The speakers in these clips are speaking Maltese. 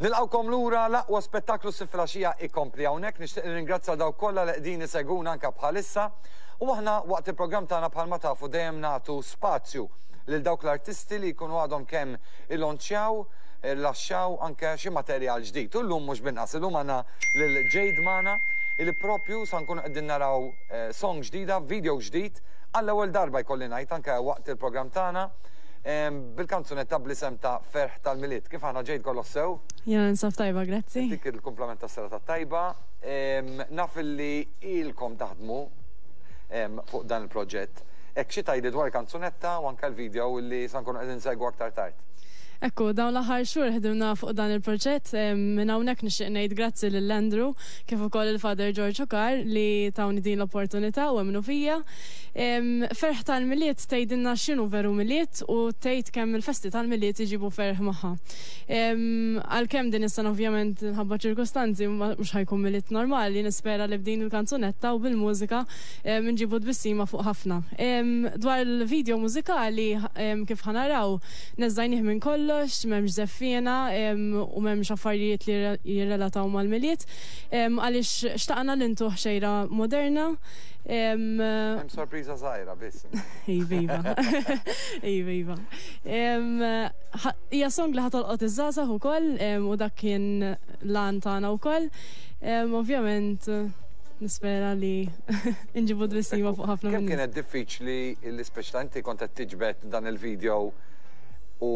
Nilqgħukom lura l-aqwa spettaklu s filgħaxija ikompli hawnhekk. Nixtieq nirringrazzja dawk kollha li qegħdin isegwuna anke bħalissa. U aħna waqt il-programm tagħna bħalma tafu dejjem nagħtu spazju lil dawk l-artisti li jkunu għadhom kemm illonċjaw, rilaxxaw anke xi materjal ġdid. U llum mhux b'inqas, illum għandna lil Jade magħna illi propju sa nkunu qegħdin naraw song ġdida, video ġdid għall-ewwel darba jkolli ngħid anke waqt il-programm tagħna bil-kanzunetta bl-isem ta' Ferħ tal-Milied. Kif aħna Jade kollox sew? Jiena ninsab tajba, grazzi. Dik il-kumplament tas-serata tajba. Naf li ilkom taħdmu fuq dan il-proġett. Hekk xi tgħidli dwar il-kanzunetta u anke l-video li sa nkunu qegħdin nsegwu aktar tard. Ekku, dawn l-aħħar xhur ħdimna fuq dan il-proġett. Minn hawnhekk nixtieq ngħid grazzi lil Andrew kif ukoll il-Father George Ukar li tawni din l-opportunità u emmnu fija. Ferħ tal-Milied tgħidilna x'inhu veru Milied u tgħid kemm il-festi tal-Milied iġibu ferħ magħha. Għalkemm din is-sena ovvjament minħabba ċirkustanzi mhux ħa jkun Milied normali, nispera li b'din il-kanzunetta u bil-mużika nġibu tbissima fuq ħafna. Dwar il-video mużikali kif ħa naraw neżżajnih minn kollox, m'hemmx żeffiena u m'hemmx affarijiet li jirrelataw mal-Milied għaliex xtaqna li ntuh xejra moderna. Hemm sorpriża żgħira biss. Iva, iva. Iva, iva. Hija song li ħa tolqot iż-żgħażagħ ukoll u dak kien l-għan tagħna wkoll. Ovvjament nispera li nġibu tbissima fuq ħafna Kemm kienet diffiċli li speċi inti kont qed tiġbed dan il-video u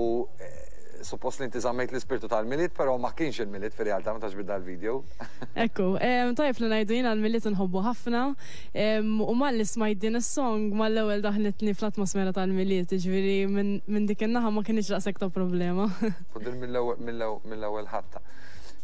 suppost li inti żammejt l-ispirtu tal-Milied, però ma kienx il-Milied fir-realtà meta ġbidda l-video. Ekku, tajjeb li ngħidu jiena l-Milied inħobbu ħafna u malli smajt din is-song mal-ewwel daħlitni fl-atmosfera tal-Milied, jiġifieri minn dik in-naħa ma kinitx daqshekk ta' problema. U din mill-ewwel ħatta.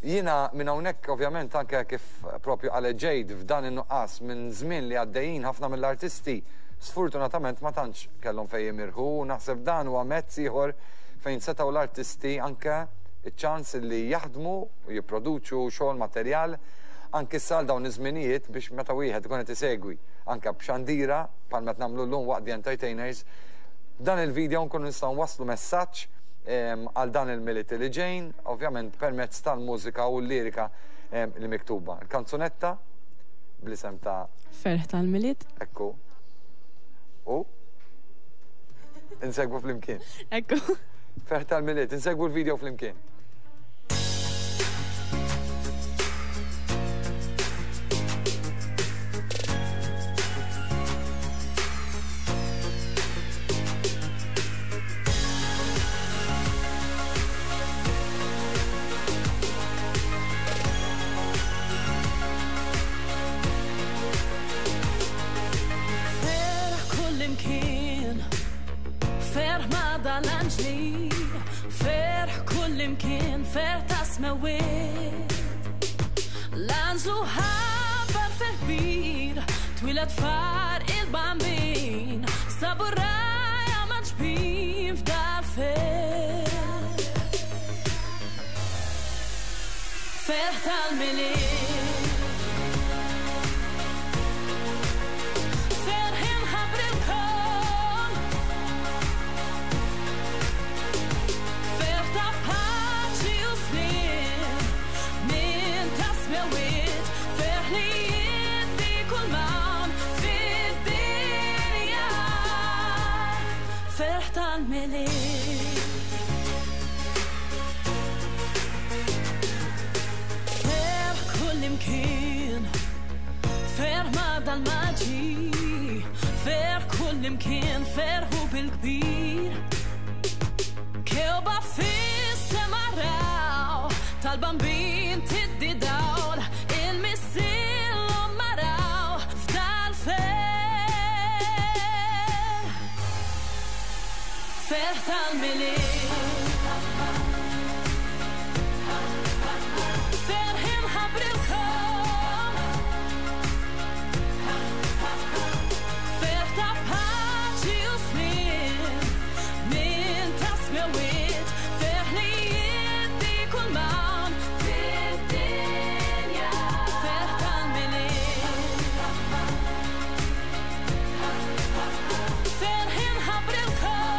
Jiena minn hawnhekk ovvjament anke kif propju qalet Jade f'dan in-nuqqas minn żmien li għaddejjin ħafna mill-artisti sfortunatament ma tantx kellhom fejn jimirħu u naħseb dan huwa mezz ieħor fejn setgħu l-artisti anke iċ-ċans li jaħdmu u jipproduċu xogħol materjal anke issa għal dawn iż-żminijiet biex meta wieħed ikun qed isegwi anke b'xandira bħal qed nagħmlu llum waqt The Entertainers dan il-video nkunu nistgħu nwasslu messaġġ għal dan il-Milied li ġejn, ovvjament permezz tal-mużika u l-lirika li miktuba. Il-kanzunetta bl-isem ta' Ferħ tal-Milied. Ekku. U insegwu flimkien. Ekku. Ferħ tal-Milied, insegwu l-video flimkien. Ferħ kullimkien, ferħ ma' dal-anġli, ferħ kullimkien, ferħ ta' smewiet. L-anġlu ħabbar ferħ kbir, twieled far il-bambin, sabu rgħajja maġbin f'dal-ferħ. Ferħ tal-Milied. Ferħ inħabbrilkom. Ferħ ta' paċi u sliem minn ta' smewiet, ferħ li jiddi kull m'hawn fid-dinja. Ferħ tal-Milied. Ferħ kullimkien, ferħ ma' dal-maġi, ferħ kullimkien, ferħu bil-kbir. Kewba fis-sema raw, tal-bambin tiddi dawl, il-missier l-omm maraw f'dal-ferħ. Ferħ tal-Milied. Ferħ inħabbrilkom. Ferħ ta' paċi u sliem minn ta' smewiet, ferħ li jiddi kull m'hawn fid-dinja. Ferħ tal-Milied. Ferħ inħabbrilkom.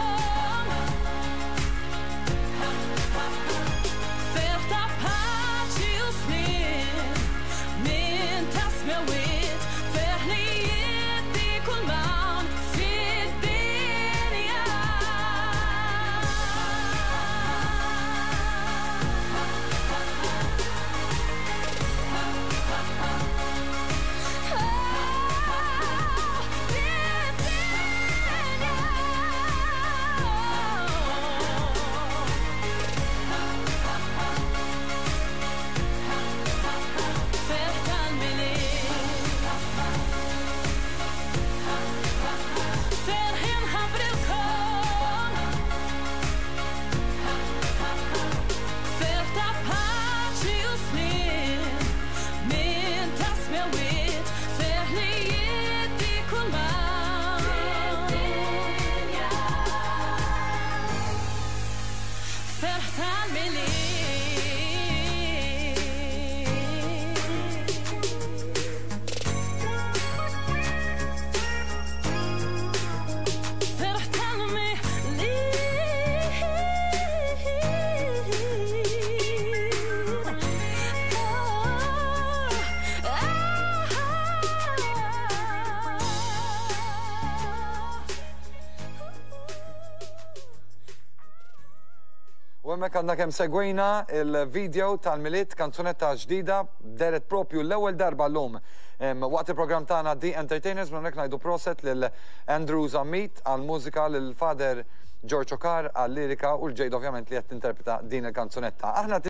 Hemmhekk għandna kemm segwejna il-video tal-Milied, kanzunetta ġdida dehret propju l-ewwel darba llum waqt il-programm tagħna The Entertainers. Minn hawnhekk ngħidu proset lil Andrew Zammit għall-mużika, lil Father George Okar għal-lirika u l-Jade ovvjament li qed tinterpreta din il-kanzunetta. Aħna.